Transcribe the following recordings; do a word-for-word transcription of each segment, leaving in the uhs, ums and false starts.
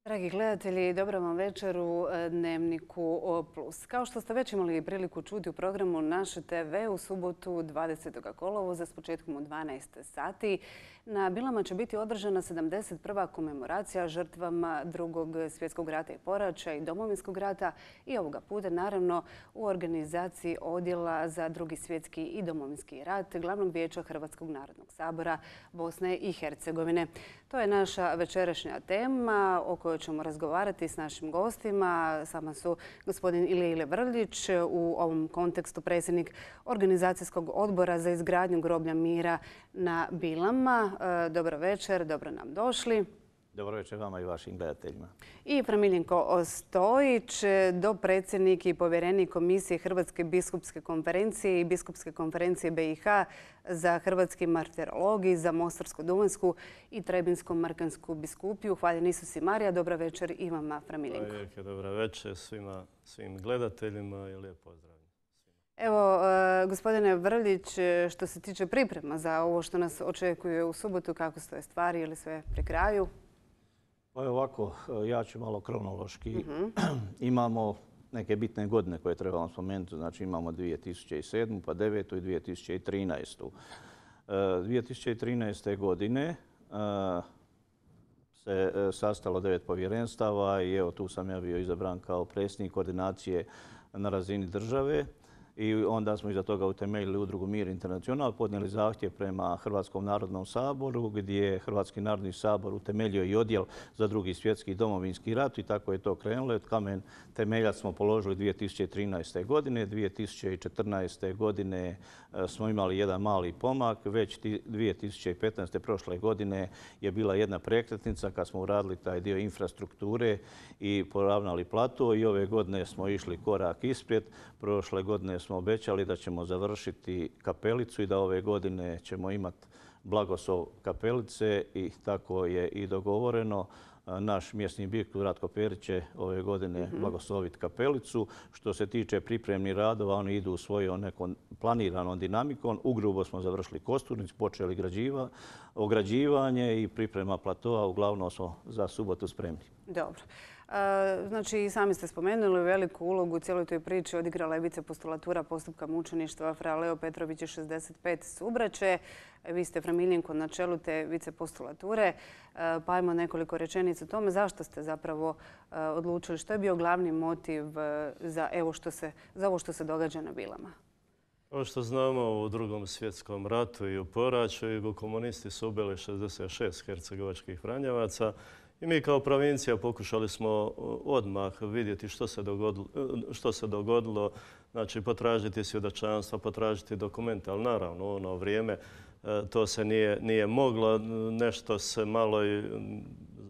Dragi gledatelji, dobro vam večer u Dnevniku Plus. Kao što ste već imali priliku čuti u programu Naše te ve u subotu dvadesetog kolovoza s početkom u dvanaest sati, na Bilama će biti održana sedamdeset prva komemoracija žrtvama Drugog svjetskog rata i poraća i Domovinskog rata i ovoga puta naravno u organizaciji Odjela za Drugi svjetski i Domovinski rat Glavnog vijeća Hrvatskog narodnog sabora Bosne i Hercegovine. To je naša večerašnja tema o kojoj ćemo razgovarati s našim gostima. Sama su gospodin Ilija Vrljić, u ovom kontekstu predsjednik Organizacijskog odbora za izgradnju groblja mira na Bilama. Dobro večer, dobro nam došli. Dobro večer vama i vašim gledateljima. I Miljenko Ostojić, dopredsjednik i povjerenik Komisije Hrvatske biskupske konferencije i Biskupske konferencije be i ha za hrvatski martirologij, za Mostarsku-duvanjsku i Trebinsko-markansku biskupiju. Hvaljen Isus i Marija. Dobro večer i vama, Miljenko. Dobro večer svima, svim gledateljima i lijep pozdrav. Evo, gospodine Vrljić, što se tiče priprema za ovo što nas očekuje u subotu, kako stoje stvari ili sve pri kraju? Pa ovako, ja ću malo kronološki. Imamo neke bitne godine koje trebamo spomenuti. Znači imamo dvije tisuće sedmu, pa devetu i dvije tisuće trinaestu. dvije tisuće trinaeste. godine se sastalo devet povjerenstava i evo tu sam ja bio izabran kao predsjednik koordinacije na razini države. I onda smo iza toga utemeljili udrugu Mir Internacional, podnijeli zahtjev prema Hrvatskom narodnom saboru gdje je Hrvatski narodni sabor utemeljio i odjel za Drugi svjetski i Domovinski rat i tako je to krenulo. Kamen temeljac smo položili dvije tisuće trinaeste. godine. dvije tisuće četrnaeste. godine smo imali jedan mali pomak. Već dvije tisuće petnaeste. prošle godine je bila jedna prekretnica kad smo uradili taj dio infrastrukture i poravnali plato i ove godine smo išli korak ispred. Prošle godine smo obećali da ćemo završiti kapelicu i da ove godine ćemo imati blagoslov kapelice i tako je i dogovoreno. Naš mjesni biskup Ratko Perić će ove godine blagosloviti kapelicu. Što se tiče pripremnih radova, oni idu svojom nekom planiranom dinamikom. Ugrubo smo završili kosturnicu, počeli ograđivanje i priprema platoa. Uglavnom smo za subotu spremni. Dobro. Znači, i sami ste spomenuli veliku ulogu u cijeloj toj priči odigrala je vicepostulatura postupka mučeništva Fra Leo Petrović i šezdeset pet subraće. Vi ste, Fra Miljenko, na čelu te vicepostulature. Pa ajmo nekoliko rečenica o tome. Zašto ste zapravo odlučili? Što je bio glavni motiv za ovo što se događa na Bilama? Kao što znamo, u Drugom svjetskom ratu i u poraću komunisti su ubili šezdeset šest hercegovačkih Franjevaca. I mi kao provincija pokušali smo odmah vidjeti što se dogodilo, što se dogodilo, znači potražiti svjedočanstva, potražiti dokumente, ali naravno u ono vrijeme to se nije, nije moglo. Nešto se malo,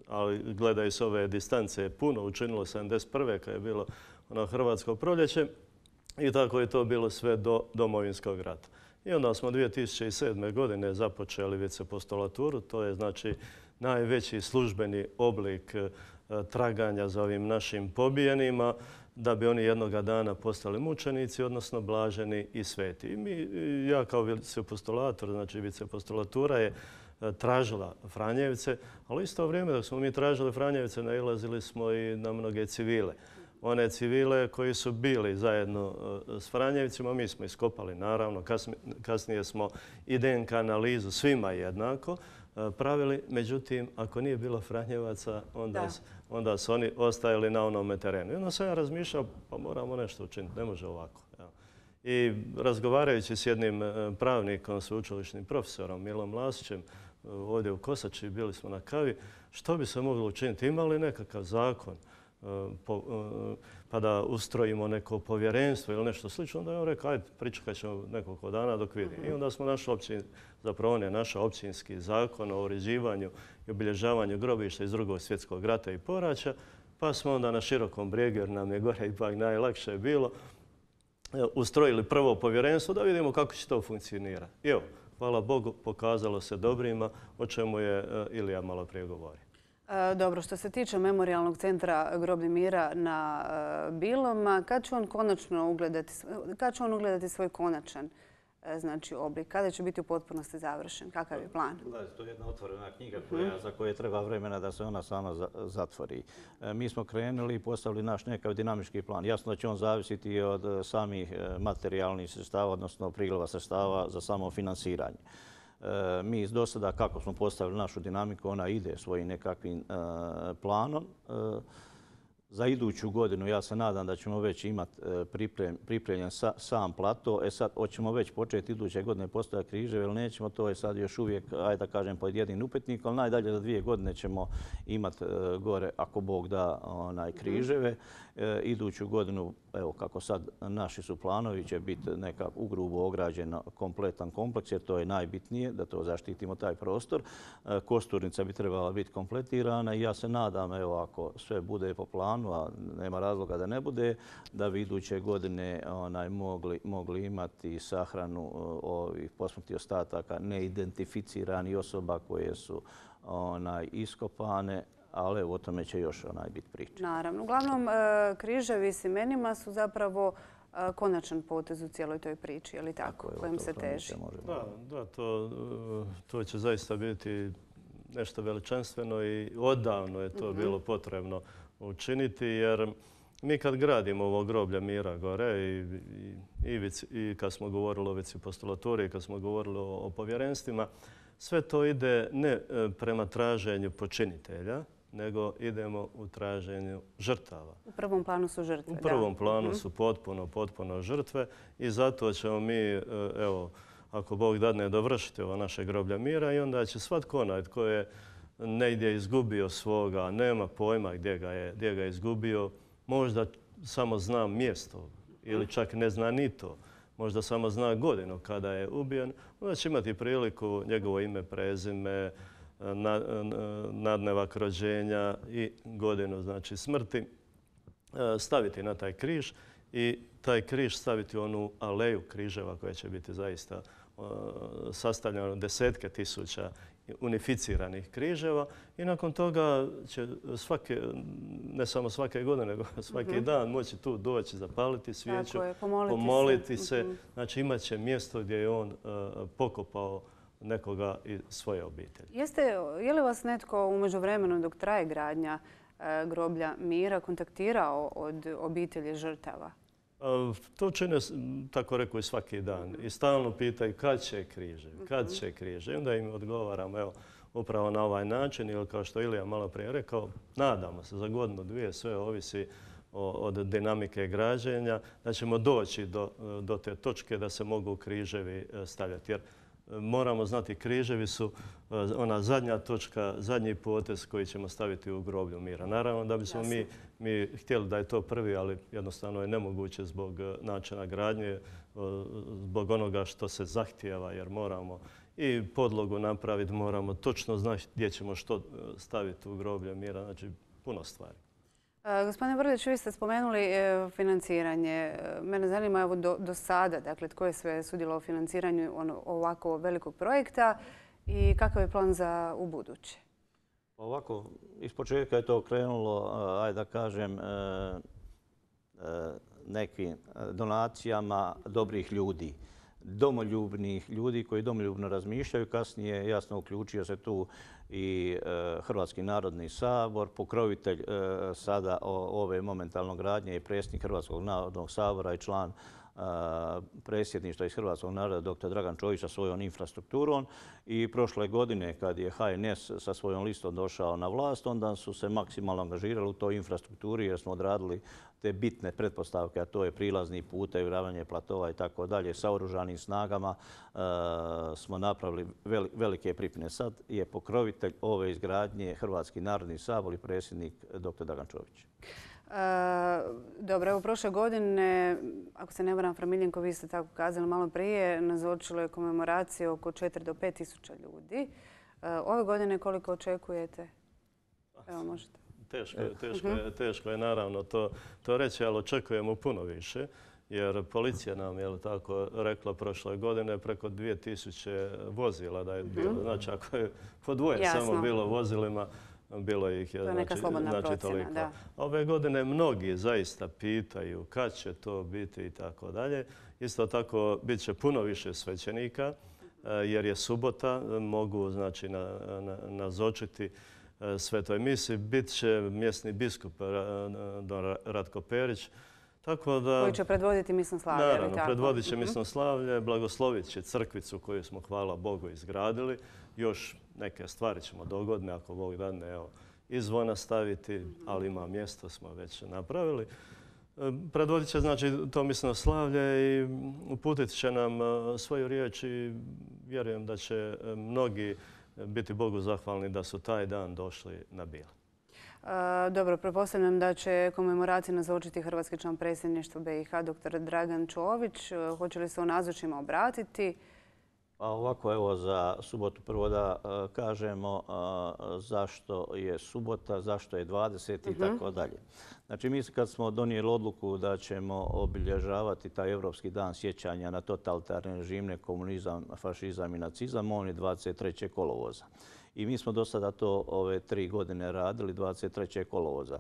ali gledaju s ove distance, puno učinilo sedamdeset prve kad je bilo ono Hrvatsko proljeće i tako je to bilo sve do Domovinskog rata. I onda smo dvije tisuće sedme. godine započeli vicepostulaturu, to je znači najveći službeni oblik traganja za ovim našim pobijenima, da bi oni jednoga dana postali mučenici, odnosno blaženi i sveti. I mi, ja kao vicepostulator, znači vicepostulatura je tražila Franjevce, ali isto vrijeme dok smo mi tražili Franjevce, nailazili smo i na mnoge civile. One civile koji su bili zajedno s Franjevcima, mi smo iskopali naravno, kasnije smo i de en ka analizu svima jednako pravili, međutim, ako nije bilo Franjevaca, onda, onda su oni ostajali na onome terenu. I onda sam ja razmišljao, pa moramo nešto učiniti, ne može ovako. Evo. I razgovarajući s jednim pravnikom, sveučilišnim profesorom Milom Lasićem, ovdje u Kosači, bili smo na kavi, što bi se moglo učiniti? Ima li nekakav zakon pa da ustrojimo neko povjerenstvo ili nešto slično? Onda je on rekao, ajde, pričekat ćemo nekoliko dana dok vidim. I onda smo našli općin, zapravo on je naš općinski zakon o uređivanju i obilježavanju grobišta iz Drugog svjetskog rata i poraća, pa smo onda na Širokom brijegu, jer nam je gore ipak najlakše bilo, ustrojili prvo povjerenstvo da vidimo kako će to funkcionirati. I evo, hvala Bogu, pokazalo se dobrima, o čemu je Ilija malo prije govorio. Dobro, što se tiče Memorijalnog centra Groblje mira na Bilama, kad će on konačno ugledati, kad će on ugledati svoj konačan znači oblik? Kada će biti u potpunosti završen? Kakav je plan? To je jedna otvorena knjiga koja, za koje treba vremena da se ona sama zatvori. Mi smo krenuli i postavili naš nekakav dinamički plan. Jasno da će on zavisiti od samih materijalnih sredstava, odnosno prilova sredstava za samo finansiranje. Mi do sada, kako smo postavili našu dinamiku, ona ide svojim nekakvim planom. Za iduću godinu ja se nadam da ćemo već imati pripremljen sam plato. E sad, hoćemo već početi iduće godine postavljati križeve ili nećemo, to je sad još uvijek, ajde da kažem, pod jednim upitnikom, ali najdalje za dvije godine ćemo imati gore, ako Bog da, križeve. Iduću godinu, evo kako sad naši su planovi, će biti nekak ugrubo ograđen kompletan kompleks, jer to je najbitnije, da to zaštitimo taj prostor. Kosturnica bi trebala biti kompletirana i ja se nadam, evo ako sve bude po planu, a nema razloga da ne bude, da bi iduće godine onaj, mogli, mogli imati sahranu ovih posmrtnih ostataka neidentificiranih osoba koje su onaj, iskopane, ali o tome će još onaj biti priča. Naravno. Uglavnom, križevi s imenima su zapravo konačan potez u cijeloj toj priči, je li tako, kojim se teži? Da, da to, to će zaista biti nešto veličanstveno i odavno je to bilo potrebno učiniti, jer mi kad gradimo ovo groblje mira gore i, i, i kad smo govorili o vici postulaturi, kad smo govorili o, o povjerenstvima, sve to ide ne prema traženju počinitelja, nego idemo u traženju žrtava. U prvom planu su žrtve. U prvom planu su potpuno, potpuno žrtve i zato ćemo mi, evo, ako Bog dadne, dovršiti ovo naše groblje mira i onda će svatko onaj tko je negdje izgubio svoga, nema pojma gdje ga je, gdje ga je izgubio, možda samo zna mjesto ili čak ne zna ni to, možda samo zna godinu kada je ubijen, onda će imati priliku njegovo ime, prezime, nadnevak rođenja i godinu znači smrti staviti na taj križ i taj križ staviti u onu aleju križeva koja će biti zaista sastavljena od desetke tisuća unificiranih križeva i nakon toga će svake, ne samo svake godine, nego svaki dan moći tu doći, zapaliti svijeću, je, pomoliti, pomoliti se. se. Znači imat će mjesto gdje je on pokopao nekoga iz svoje obitelji. Jeste, je li vas netko u međuvremenu dok traje gradnja groblja mira kontaktirao od obitelji žrtava? To čine, tako rekao, i svaki dan. I stalno pitaju kad će križevi, kad će križevi. Onda im odgovaramo, evo, upravo na ovaj način, ili kao što Ilija malo prije rekao, nadamo se za godinu, dvije, sve ovisi od dinamike građenja, da ćemo doći do, do te točke da se mogu križevi stavljati. Jer moramo znati, križevi su ona zadnja točka, zadnji potez koji ćemo staviti u groblju mira. Naravno da bismo mi, mi htjeli da je to prvi, ali jednostavno je nemoguće zbog načina gradnje, zbog onoga što se zahtijeva, jer moramo i podlogu napraviti, moramo točno znati gdje ćemo što staviti u groblje mira, znači puno stvari. Gospodine Brlić, vi ste spomenuli financiranje. Mene zanima evo do, do sada, dakle, tko je sve sudjelovao u financiranju ovako velikog projekta i kakav je plan za ubuduće? Ovako, ispočetka je to krenulo, ajde da kažem, nekim donacijama dobrih ljudi, domoljubnih ljudi koji domoljubno razmišljaju. Kasnije, jasno, uključio se tu i Hrvatski narodni sabor, pokrovitelj sada ove momentalno gradnje je predsjednik Hrvatskog narodnog sabora i član predsjedništva iz Hrvatskog naroda doktor Dragan Čović sa svojom infrastrukturom. I prošle godine kad je H N S sa svojom listom došao na vlast, onda su se maksimalno angažirali u toj infrastrukturi jer smo odradili te bitne pretpostavke, a to je prilazni putevi, ravnanje platova i tako dalje. Sa oružanim snagama smo napravili velike pripreme. Sad je pokrovitelj ove izgradnje Hrvatski narodni sabor i predsjednik doktor Dragan Čović. Dobro, evo prošle godine, ako se ne varam, Fra Miljenko, vi ste tako kazali malo prije, nazočilo je komemoracije oko četiri do pet tisuća ljudi. Ove godine koliko očekujete? Evo, možete. Teško je, teško je, teško je naravno to, to reći, ali očekujemo puno više. Jer policija nam je tako rekla prošle godine preko dvije tisuće vozila da je bilo. Znači, ako je po dvoje samo bilo vozilima, bilo ih je, znači, znači toliko. Da. Ove godine mnogi zaista pitaju kad će to biti i tako dalje. Isto tako bit će puno više svećenika jer je subota, mogu znači nazočiti svetoj misi. Bit će mjesni biskup don Ratko Perić. Koji će predvoditi misnoslavlje. Naravno, predvodit će misnoslavlje, blagoslovit će crkvicu koju smo, hvala Bogu, izgradili. Još neke stvari ćemo dogodne, ako Bog dadne, evo, izvona staviti, ali ima mjesto, smo već napravili. Predvodit će znači to misnoslavlje i uputit će nam svoju riječ i vjerujem da će mnogi biti Bogu zahvalni da su taj dan došli na Bile. Dobro, pretpostavljam da će komemoraciju nazočiti hrvatski član predsjedništva B i H, doktor Dragan Čović. Hoće li se on nazočima obratiti? Pa ovako, evo, za subotu prvo da kažemo zašto je subota, zašto je dvadeset i tako dalje. Znači, mi kad smo donijeli odluku da ćemo obilježavati taj Europski dan sjećanja na totalitarne režime, komunizam, fašizam i nacizam, on je dvadeset trećeg kolovoza. I mi smo do sada to ove tri godine radili, dvadeset trećeg kolovoza.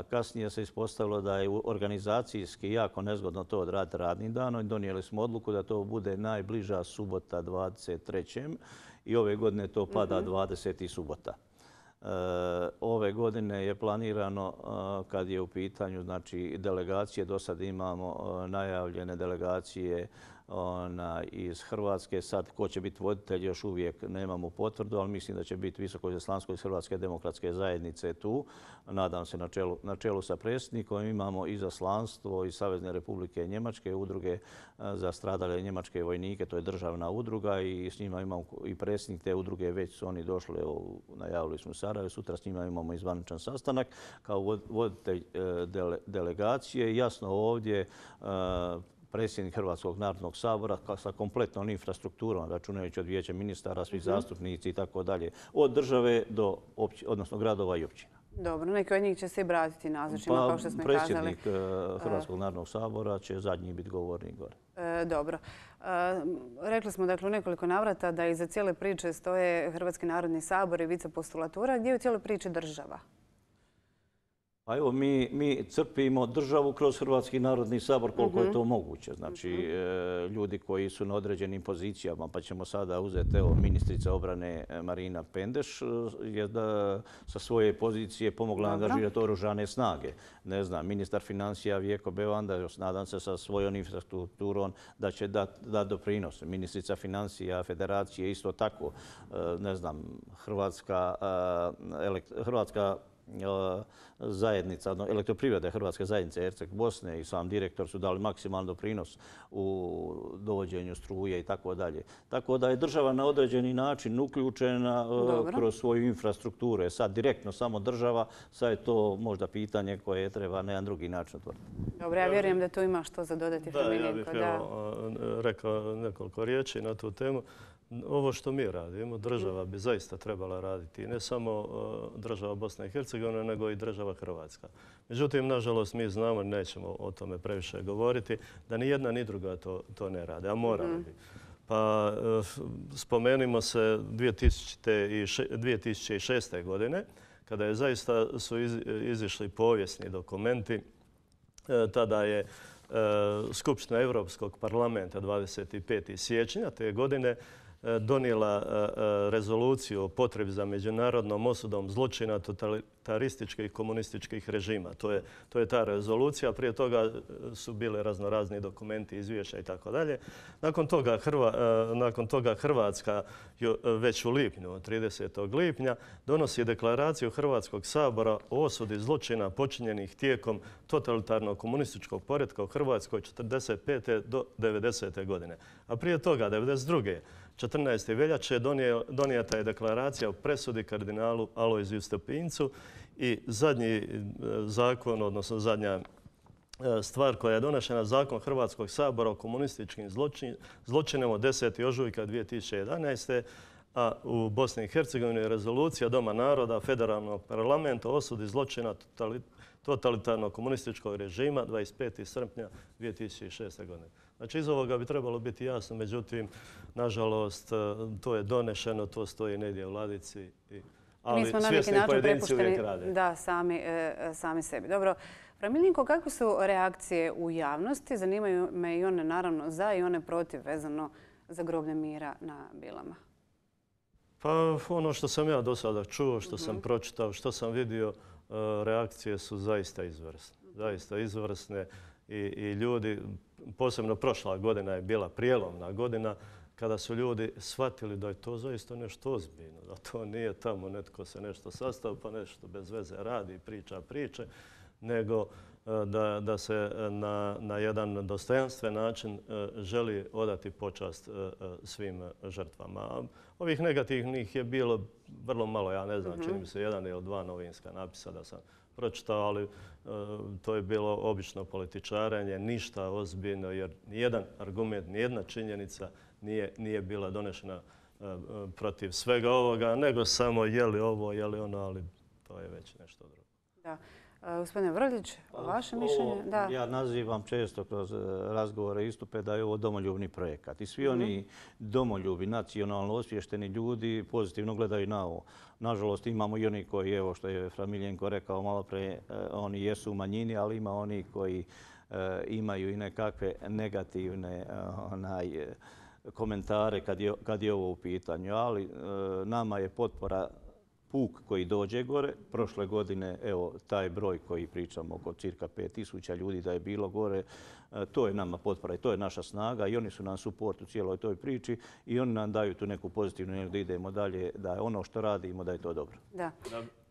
Kasnije se ispostavilo da je organizacijski jako nezgodno to odraditi radnim danom i donijeli smo odluku da to bude najbliža subota dvadeset trećeg i ove godine to pada dvadesetog subota. Ove godine je planirano, kad je u pitanju znači, delegacije, do sada imamo najavljene delegacije iz Hrvatske. Sad, ko će biti voditelj, još uvijek nemamo potvrdu, ali mislim da će biti Visoko-izaslansko iz Hrvatske demokratske zajednice tu. Nadam se na čelu sa predsjednikom. Imamo izaslanstvo iz Savezne republike Njemačke, udruge za stradale njemačke vojnike, to je državna udruga i s njima imamo i predsjednik te udruge, već su oni došli, najavili smo u Sarajevu, sutra s njima imamo izvaničan sastanak kao voditelj delegacije. Jasno ovdje predsjednik Hrvatskog narodnog sabora sa kompletnom infrastrukturom, računajući od vijeća ministara, svi zastupnici i tako dalje, od države do odnosno gradova i općina. Dobro, neki od njih će se i bratiti nazočima, kao što smo i kazali. Predsjednik Hrvatskog narodnog sabora će zadnji biti govornik gore. Dobro. Rekli smo dakle u nekoliko navrata da iza cijele priče stoje Hrvatski narodni sabor i vicepostulatura. Gdje je u cijeloj priči država? Pa evo, mi, mi crpimo državu kroz Hrvatski narodni sabor koliko uh-huh. je to moguće. Znači, uh-huh. e, ljudi koji su na određenim pozicijama, pa ćemo sada uzeti, evo, ministrica obrane Marina Pendeš je da sa svoje pozicije pomogla angažirati oružane snage. Ne znam, ministar financija Vjeko Bevanda, još nadam se sa svojom infrastrukturom da će dati dat doprinos. Ministrica financija Federacije isto tako. E, ne znam, Hrvatska, e, elekt, Hrvatska zajednica, elektroprivrede Hrvatske zajednice Erceg Bosne i sam direktor su dali maksimalan doprinos u dovođenju struje i tako dalje. Tako da je država na određeni način uključena Dobro. kroz svoju infrastrukturu. Sad direktno samo država, sad je to možda pitanje koje treba na jedan drugi način otvoriti. Dobro, ja vjerujem da tu ima što za dodati. Da, ja bih da. rekao nekoliko riječi na tu temu. Ovo što mi radimo, država bi zaista trebala raditi. Ne samo država Bosna i Hercegovina, nego i država Hrvatska. Međutim, nažalost, mi znamo, nećemo o tome previše govoriti, da ni jedna ni druga to, to ne rade, a morali bi. Pa spomenimo se dvije tisuće šeste. godine, kada je zaista su iz, izišli povijesni dokumenti. Tada je Skupština Europskog parlamenta dvadeset petog siječnja te godine donijela rezoluciju o potrebi za međunarodnom osudom zločina totalitarističkih i komunističkih režima. To je, to je ta rezolucija. Prije toga su bile raznorazni dokumenti, izvješća i tako dalje. Nakon toga, Hrva, nakon toga Hrvatska već u lipnju, tridesetog lipnja, donosi deklaraciju Hrvatskog sabora o osudi zločina počinjenih tijekom totalitarnog komunističkog poretka u Hrvatskoj četrdeset pete do devedesete. godine. A prije toga, devedeset druge četrnaeste veljače donijeta je deklaracija o presudi kardinalu Alojziju Stepincu i zadnji zakon, odnosno zadnja stvar koja je donešena, zakon Hrvatskog sabora o komunističkim zločin, zločinama desetog ožujka dvije tisuće jedanaeste. A u Bosni i Hercegovini je rezolucija Doma naroda Federalnog parlamenta o osudi zločina totalitarnog komunističkog režima dvadeset petog srpnja dvije tisuće šeste. godine. Znači, iz ovoga bi trebalo biti jasno, međutim, nažalost, to je donešeno, to stoji negdje u ladici, ali svjesni pojedinci uvijek rade. Da, sami, sami sebi. Dobro, Fra Miljenko, kakve su reakcije u javnosti? Zanimaju me i one naravno za i one protiv vezano za groblje mira na Bilama. Pa ono što sam ja do sada čuo, što sam pročitao, što sam vidio, reakcije su zaista izvrsne. Zaista izvrsne i ljudi, posebno prošla godina je bila prijelomna godina, kada su ljudi shvatili da je to zaista nešto ozbiljno, da to nije tamo netko se nešto sastao pa nešto bez veze radi, priča priče, nego da, da se na, na jedan dostojanstven način želi odati počast svim žrtvama. Ovih negativnih je bilo vrlo malo, ja ne znam, mm-hmm. čini mi se jedan ili dva novinska napisa da sam pročitao, ali to je bilo obično političarenje, ništa ozbiljno, jer nijedan argument, nijedna činjenica nije, nije bila donešena protiv svega ovoga, nego samo je li ovo, je li ono, ali to je već nešto drugo. Da. Gospodine Vrljić, vaše mišljenje? Da. Ja nazivam često kroz razgovore i istupe da je ovo domoljubni projekat. I svi mm-hmm. oni domoljubi, nacionalno osviješteni ljudi pozitivno gledaju na ovo. Nažalost, imamo i oni koji, evo što je Fra Miljenko rekao malo pre, oni jesu u manjini, ali ima oni koji e, imaju i nekakve negativne e, onaj, komentare kad je, kad je ovo u pitanju. Ali e, nama je potpora puk koji dođe gore. Prošle godine, evo, taj broj koji pričamo oko cirka pet tisuća ljudi da je bilo gore, to je nama potpora i to je naša snaga i oni su nam suport u cijeloj toj priči i oni nam daju tu neku pozitivnu energiju da idemo dalje, da je ono što radimo da je to dobro. Da.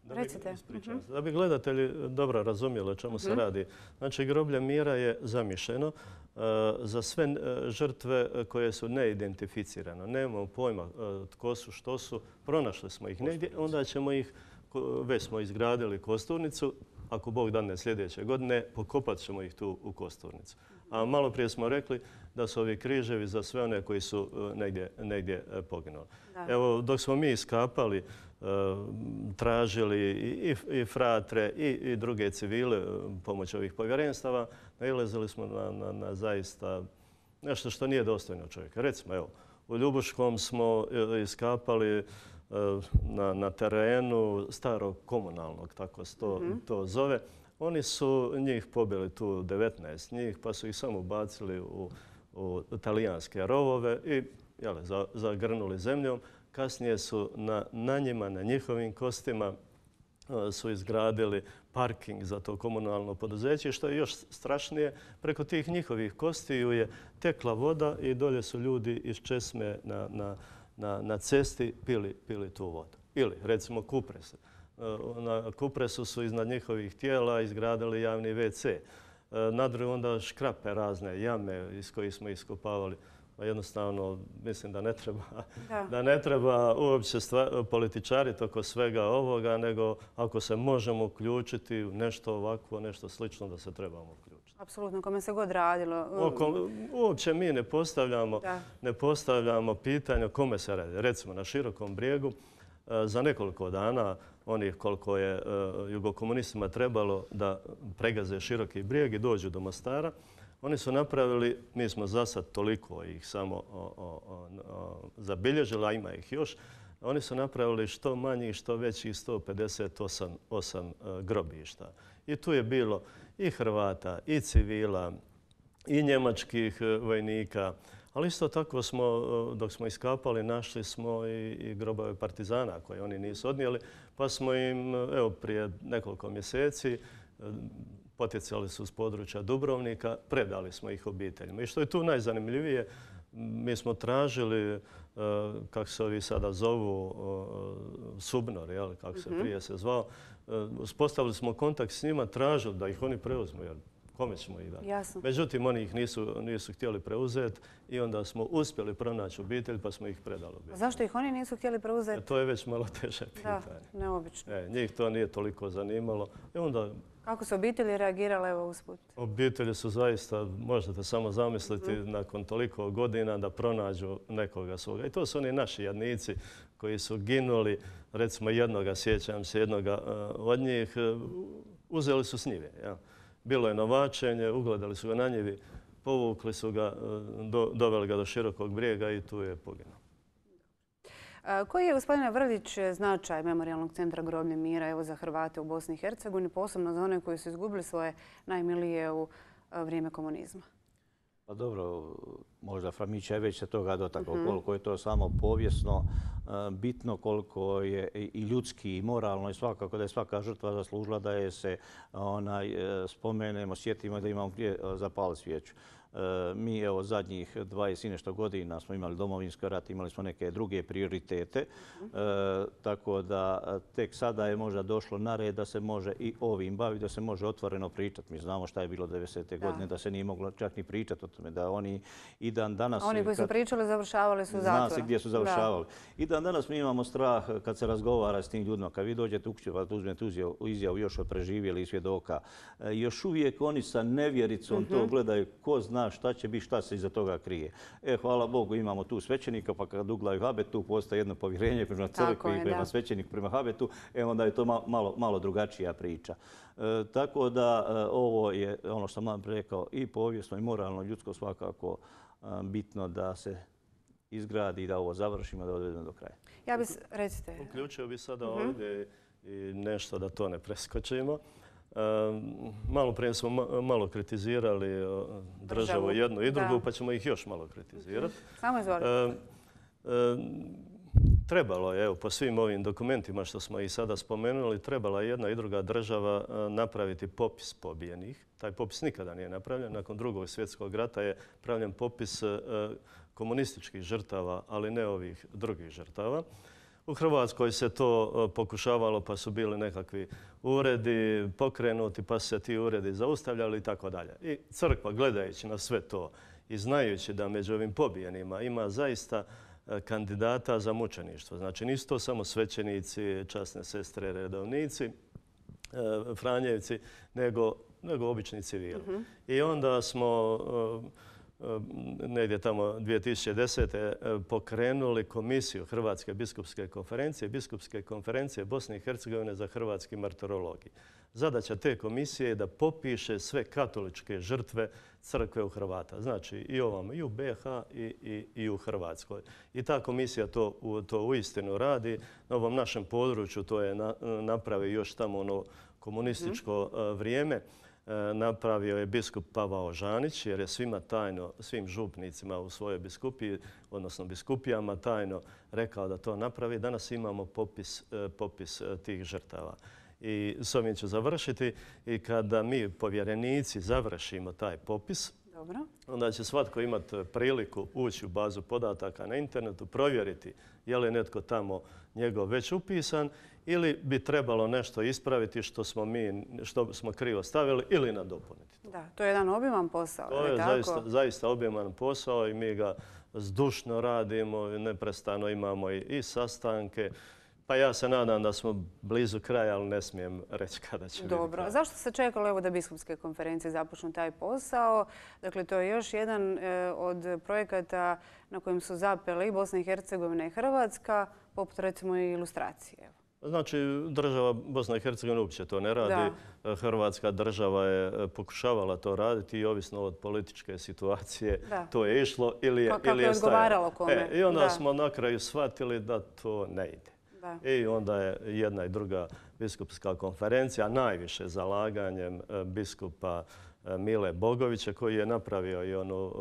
Da bi, uh-huh. da bi gledatelji dobro razumjeli o čemu uh-huh. se radi. Znači, groblje mira je zamišljeno uh, za sve uh, žrtve koje su neidentificirane. Nemamo pojma uh, tko su, što su. Pronašli smo ih negdje, onda ćemo ih, već smo izgradili kosturnicu, ako Bog dane sljedeće godine, pokopat ćemo ih tu u kosturnicu. A malo prije smo rekli da su ovi križevi za sve one koji su uh, negdje, negdje uh, poginuli. Da. Evo, dok smo mi iskapali, tražili i, i fratre i, i druge civile pomoć ovih povjerenstava, nailazili smo na, na, na zaista nešto što nije dostojno čovjeka. Recimo, evo, u Ljubuškom smo iskapali na, na terenu starog komunalnog, tako se to, mm-hmm. to zove. Oni su njih pobili tu devetnaest njih, pa su ih samo bacili u, u talijanske rovove i jele, zagrnuli zemljom. Kasnije su na, na njima, na njihovim kostima su izgradili parking za to komunalno poduzeće. Što je još strašnije, preko tih njihovih kostiju je tekla voda i dolje su ljudi iz česme na, na, na, na cesti pili, pili tu vodu. Ili, recimo, Kupres. Na Kupresu su iznad njihovih tijela izgradili javni ve ce. Nadalje onda škrape razne jame iz kojih smo iskopavali. Jednostavno, mislim da ne treba, da. da ne treba uopće stva, političariti oko svega ovoga, nego ako se možemo uključiti u nešto ovakvo, nešto slično, da se trebamo uključiti. Apsolutno, kome se god radilo. Oko, uopće mi ne postavljamo, ne postavljamo pitanje kome se radi. Recimo, na Širokom brijegu za nekoliko dana, onih koliko je jugokomunistima trebalo da pregaze Široki brijeg i dođu do Mostara, oni su napravili, mi smo za sad toliko ih samo o, o, o, zabilježili, a ima ih još, oni su napravili što manjih, što većih sto pedeset osam grobišta. I tu je bilo i Hrvata, i civila, i njemačkih vojnika, ali isto tako smo, dok smo iskapali, našli smo i, i grobove partizana koje oni nisu odnijeli, pa smo im, evo, prije nekoliko mjeseci, potjecali su s područja Dubrovnika, predali smo ih obiteljima. I što je tu najzanimljivije, mi smo tražili, kako se ovi sada zovu, Subnor, jel, kako se prije se zvao, uspostavili smo kontakt s njima, tražili da ih oni preuzmu, jer kome ćemo ih dati. Jasno. Međutim, oni ih nisu, nisu htjeli preuzeti i onda smo uspjeli pronaći obitelj pa smo ih predali obitelj. Zašto ih oni nisu htjeli preuzeti? E, to je već malo teže pitanje. Da, neobično. E, njih to nije toliko zanimalo. I onda, kako su obitelji reagirale evo usput? Obitelji su zaista, možete samo zamisliti, mm-hmm. nakon toliko godina da pronađu nekoga svoga. I to su oni naši jadnici koji su ginuli, recimo jednoga, sjećam se jednoga od njih, uzeli su s njive. Ja. Bilo je novačenje, ugledali su ga na njivi, povukli su ga, do, doveli ga do Širokog brijega i tu je poginuo. Koji je, gospodine Vrdić, značaj Memorijalnog centra Groblje mira evo, za Hrvate u Bosni i Hercegovini, posebno za one koji su izgubili svoje najmilije u vrijeme komunizma? Pa dobro, možda Framić je već se toga dotakao, koliko je to samo povijesno bitno, koliko je i ljudski i moralno i svakako da je svaka žrtva zaslužila da je se spomenemo, sjetimo da imamo gdje zapaliti svijeću. Mi evo zadnjih dvadeset i nešto godina smo imali Domovinski rat, imali smo neke druge prioritete, tako da tek sada je možda došlo na red da se može i ovim baviti, da se može otvoreno pričati. Mi znamo šta je bilo devedesete godine, da se nije moglo čak ni pričati o tome, da oni i dan danas... Oni koji su pričali završavali su zatvora. Zna se gdje su završavali. I dan danas mi imamo strah kad se razgovara s tim ljudima, kad vi dođete u kuću, pa uzmete izjavu još od preživjeli svjedoka. Još uvijek oni sa nevjericom to gledaju, ko zna šta će biti, šta se iza toga krije. E, hvala Bogu, imamo tu svećenika, pa kad uglaju habet, tu postoje jedno povjerenje prema crkvi i prema svećeniku, prema habetu, e, onda je to malo, malo drugačija priča. E, tako da e, ovo je, ono što sam vam rekao, i povijesno i moralno, ljudsko svakako e, bitno da se izgradi i da ovo završimo, da odvedemo do kraja. Ja bih, recite. Uključio bih sada ovdje i nešto da to ne preskočimo. Malo prije smo malo kritizirali državu jednu i drugu, pa ćemo ih još malo kritizirati. Samo izvolite. Trebalo je, evo, po svim ovim dokumentima što smo i sada spomenuli, trebala je jedna i druga država napraviti popis pobijenih. Taj popis nikada nije napravljen. Nakon drugog svjetskog rata je pravljen popis komunističkih žrtava, ali ne ovih drugih žrtava. U Hrvatskoj se to pokušavalo, pa su bili nekakvi uredi pokrenuti, pa su se ti uredi zaustavljali i tako dalje. I crkva, gledajući na sve to i znajući da među ovim pobijenima ima zaista kandidata za mučeništvo. Znači nisu to samo svećenici, časne sestre, redovnici, Franjevci, nego, nego obični civili. I onda smo negdje tamo dvije tisuće desete. pokrenuli komisiju Hrvatske biskupske konferencije, Biskupske konferencije Bosne i Hercegovine za hrvatski martirologij. Zadaća te komisije je da popiše sve katoličke žrtve crkve u Hrvata. Znači i ovamo, i u B i H i, i, i u Hrvatskoj. I ta komisija to, to uistinu radi. Na ovom našem području to je na, napravi još tamo ono komunističko mm-hmm. vrijeme. Napravio je biskup Pavao Žanić jer je svima tajno, svim župnicima u svojoj biskupiji, odnosno biskupijama tajno rekao da to napravi. Danas imamo popis, popis tih žrtava. I s ovim ću završiti. I kada mi povjerenici završimo taj popis, dobro, onda će svatko imati priliku ući u bazu podataka na internetu, provjeriti je li netko tamo njegov već upisan ili bi trebalo nešto ispraviti što smo mi, što smo krivo stavili ili nadopuniti. Da, to je jedan obiman posao. To je zaista, zaista obiman posao i mi ga zdušno radimo, neprestano imamo i, i sastanke. Pa ja se nadam da smo blizu kraja, ali ne smijem reći kada će biti. Dobro. Zašto se čekalo evo, da biskupske konferencije započnu taj posao? Dakle, to je još jedan e, od projekata na kojem su zapeli i Bosna i Hercegovina i Hrvatska, poput recimo i ilustracije. Evo. Znači, država Bosna i Hercegovina uopće to ne radi. Da. Hrvatska država je pokušavala to raditi i ovisno od političke situacije da. to je išlo ili je, Kako ili je, je odgovaralo kome. E, I onda da. smo na kraju shvatili da to ne ide. Da. I onda je jedna i druga biskupska konferencija, najviše zalaganjem biskupa Mile Bogovića, koji je napravio i onu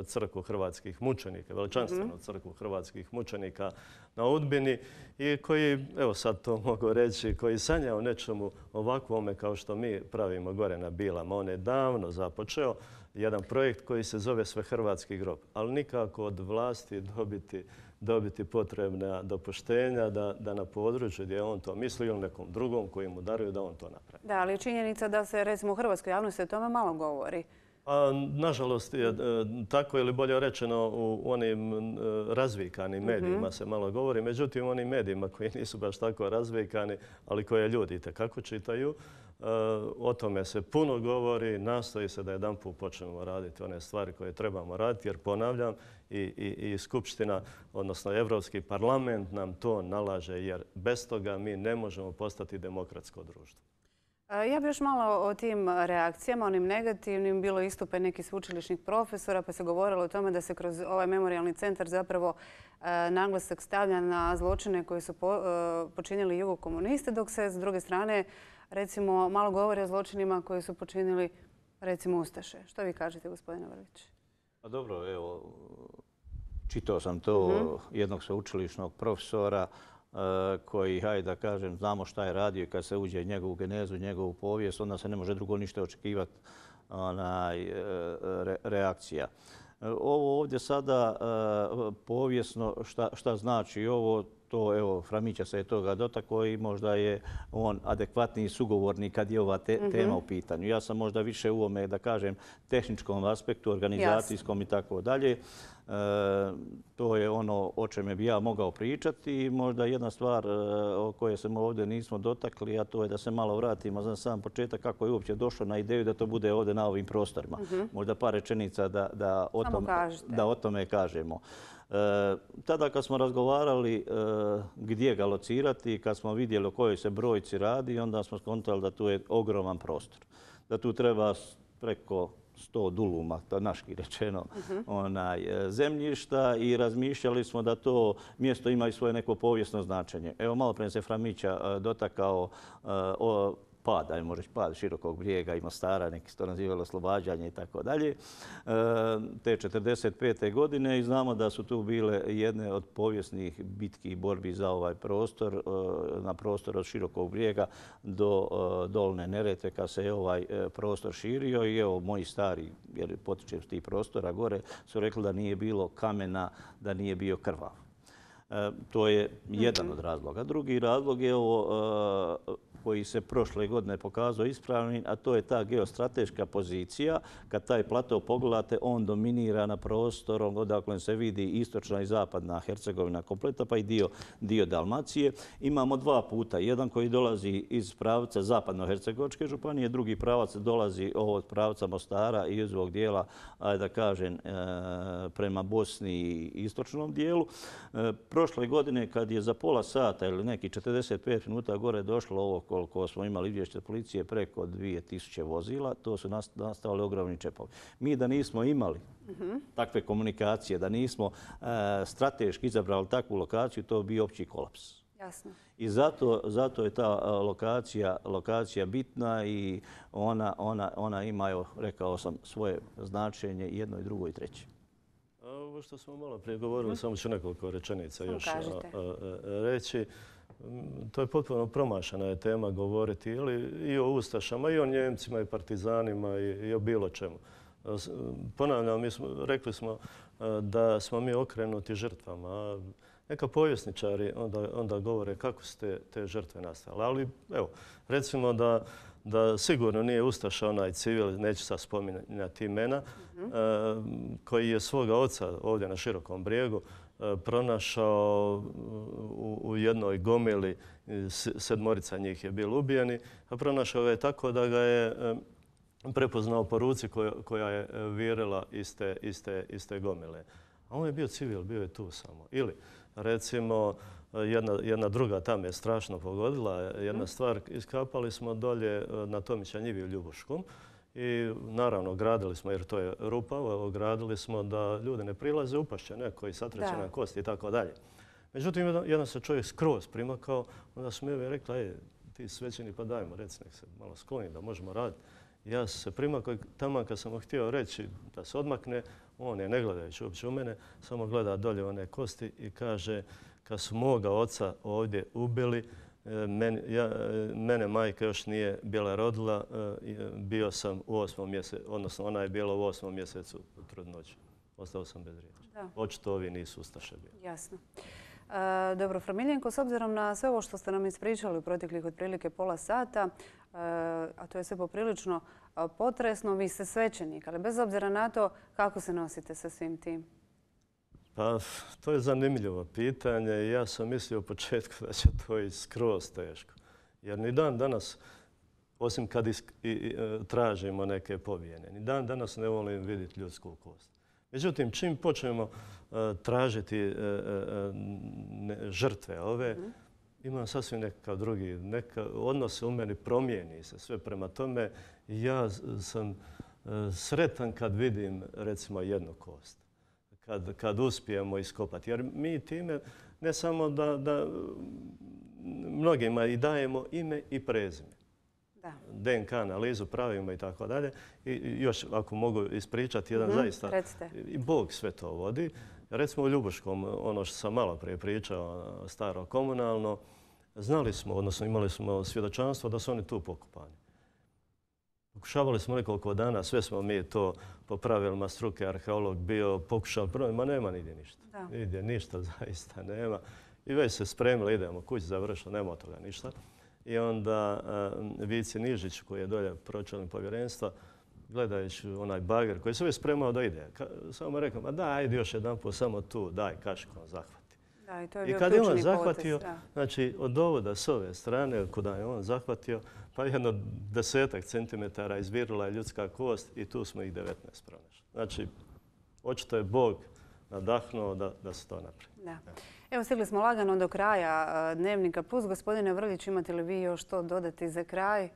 crkvu hrvatskih mučenika, veličanstvenu mm. crkvu hrvatskih mučenika na Udbini i koji, evo sad to mogu reći, koji sanja o nečemu ovakvome kao što mi pravimo gore na Bilama. On je davno započeo jedan projekt koji se zove Svehrvatski grob, ali nikako od vlasti dobiti dobiti potrebna dopuštenja da, da na području gdje on to misli ili nekom drugom koji mu daruju da on to napravi. Da, ali je činjenica da se recimo u hrvatskoj javnosti o tome malo govori. A, nažalost je tako ili bolje rečeno u onim razvikanim medijima mm-hmm. se malo govori. Međutim, u onim medijima koji nisu baš tako razvikani, ali koje ljudi kako čitaju, o tome se puno govori. Nastoji se da jedan put počnemo raditi one stvari koje trebamo raditi, jer ponavljam, i, i, i Skupština, odnosno Evropski parlament nam to nalaže, jer bez toga mi ne možemo postati demokratsko društvo. Ja bih još malo o tim reakcijama, onim negativnim. Bilo istupe nekih sveučilišnih profesora, pa se govorilo o tome da se kroz ovaj memorijalni centar zapravo naglasak stavlja na zločine koje su počinili jugokomunisti, dok se s druge strane recimo malo govori o zločinima koje su počinili recimo ustaše. Što vi kažete, gospodine Vrlić? Pa dobro, evo, čitao sam to jednog sveučilišnog profesora koji, hajde da kažem, znamo šta je radio i kad se uđe njegovu genezu, njegovu povijest, onda se ne može drugo ništa očekivati reakcija. Ovo ovdje sada povijesno šta znači ovo, to evo, Framića se je toga dotakao i možda je on adekvatniji sugovornik kad je ova tema u pitanju. Ja sam možda više u ovome, da kažem, tehničkom aspektu, organizacijskom i tako dalje. To je ono o čemu bi ja mogao pričati i možda jedna stvar o kojoj se ovdje nismo dotakli, a to je da se malo vratimo za sam početak kako je uopće došlo na ideju da to bude ovdje na ovim prostorima. Možda par rečenica da o tome kažemo. Tada kad smo razgovarali gdje ga locirati, kad smo vidjeli o kojoj se brojci radi, onda smo skontali da tu je ogroman prostor. Da tu treba preko sto duluma, to naški rečeno, zemljišta i razmišljali smo da to mjesto ima i svoje neko povijesno značenje. Evo, malo prije se Framića dotakao o pad, ajmo reći pad Širokog Brijega i Mostara, neki su to nazivali oslobađanje i tako dalje, te četrdeset pete godine i znamo da su tu bile jedne od povijesnih bitki i borbi za ovaj prostor, na prostor od Širokog Brijega do Dolne Neretve kad se je ovaj prostor širio i evo moji stari, jer potičem s tih prostora gore, su rekli da nije bilo kamena, da nije bio krvav. To je jedan od razloga. Drugi razlog je ovo koji se prošle godine pokazao ispravnim, a to je ta geostrateška pozicija. Kad taj plato pogledate, on dominira na prostorom odakle se vidi istočna i zapadna Hercegovina kompleta, pa i dio, dio Dalmacije. Imamo dva puta. Jedan koji dolazi iz pravca zapadno-hercegovačke županije, drugi pravac dolazi od pravca Mostara i iz ovog dijela, ajde da kažem, prema Bosni i istočnom dijelu. Prošle godine kad je za pola sata ili neki četrdeset pet minuta gore došlo ovo koliko smo imali izvješće policije preko dvije tisuće vozila, to su nastavili ogromni čepovi. Mi da nismo imali takve komunikacije, da nismo strateški izabrali takvu lokaciju, to bi bio opći kolaps. Jasno. I zato, zato je ta lokacija, lokacija bitna i ona, ona, ona ima, evo, rekao sam, svoje značenje jedno i drugo i treće. Ovo što smo malo prije govorili, samo ću nekoliko rečenica još reći. To je potpuno promašena tema govoriti i o ustašama, i o Njemcima, i partizanima, i o bilo čemu. Ponavljam, rekli smo da smo mi okrenuti žrtvama. Neka povjesničari onda govore kako su te žrtve nastale. Ali evo, recimo da da sigurno nije ustaša onaj civil, neću sad spominjati imena, koji je svoga oca ovdje na Širokom Brijegu pronašao u jednoj gomili, sedmorica njih je bilo ubijeni, a pronašao ga je tako da ga je prepoznao po ruci koja je virila iz te gomile. A on je bio civil, bio je tu samo. Ili, recimo, jedna druga tam je strašno pogodila. Jedna stvar, iskapali smo dolje na Tomića njivi u Ljubuškom i naravno gradili smo, jer to je rupavo, gradili smo da ljudi ne prilaze, upašće neko i satreće na kosti i tako dalje. Međutim, jedan se čovjek skroz primakao, onda smo mi rekli, ej, ti svećeni, pa dajmo, reci, nek se malo skloni da možemo raditi. Ja sam se primakao i tamo kad sam mu htio reći da se odmakne, on je, ne gledajući uopće u mene, samo gleda dolje one kosti i kaže, kad su moga oca ovdje ubili, mene majka još nije bila rodila, bio sam u osmom mjesecu, odnosno ona je bila u osmom mjesecu trudnoće. Ostao sam bez riječi. Očito ovi nisu ustaše bili. Jasno. Dobro, Framiljenko, s obzirom na sve ovo što ste nam ispričali u proteklih otprilike pola sata, a to je sve poprilično potresno, vi ste svećenik, ali bez obzira na to, kako se nosite sa svim tim? Pa, to je zanimljivo pitanje i ja sam mislio u početku da će to i skroz teško. Jer ni dan danas, osim kad tražimo neke pobijene, ni dan danas ne volim vidjeti ljudsku kost. Međutim, čim počnemo tražiti žrtve ove, imam sasvim nekakav drugi, neka, odnos u meni promijeni se sve prema tome. Ja sam sretan kad vidim recimo jednu kost, kad, kad uspijemo iskopati. Jer mi time ne samo da, da mnogima i dajemo ime i prezime. Da. D N K analizu pravimo i tako dalje. I još ako mogu ispričati jedan mm-hmm, zaista, recite. I Bog sve to vodi. Recimo u Ljubuškom, ono što sam malo prije pričao, staro komunalno, znali smo, odnosno imali smo svjedočanstvo da su oni tu pokopani. Pokušavali smo nekoliko dana, sve smo mi to po pravilima struke, arheolog bio, pokušao prvo, ma nema nigdje ništa. Da. Nigdje ništa zaista nema. I već se spremili, idemo kući, završilo, nema od toga ništa. I onda uh, Vici Nižić, koji je dolje pročelnik povjerenstva, gledajući onaj bager koji se već spremao da ide, ka, samo rekao, ma daj, ajde još jedan put, samo tu, daj kaškom zahvati. Da, i to je I kad je on zahvatio, potez, znači od ovoda s ove strane, kuda je on zahvatio, pa jedno desetak centimetara izvirila je ljudska kost i tu smo ih devetnaest pronašli. Znači, očito je Bog nadahnuo da, da se to napravi. Da. Evo, stigli smo lagano do kraja Dnevnika plus. Gospodine Vrljić, imate li vi još što dodati za kraj?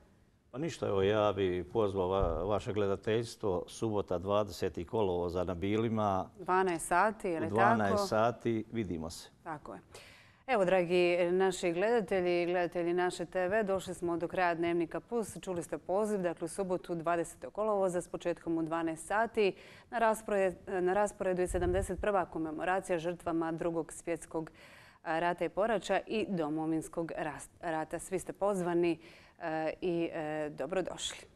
Pa ništa, evo ja bih pozvao va, vaše gledateljstvo subota dvadesetog kolovoza na Bilima. dvanaest sati, je li tako? dvanaest sati, vidimo se. Tako je. Evo, dragi naši gledatelji i gledatelji naše te ve, došli smo do kraja Dnevnika plus. Čuli ste poziv, dakle u subotu dvadesetog kolovoza s početkom u dvanaest sati. Na rasporedu, na rasporedu je sedamdeset prva komemoracija žrtvama Drugog svjetskog rata i poraća i Domovinskog rata. Svi ste pozvani i dobrodošli.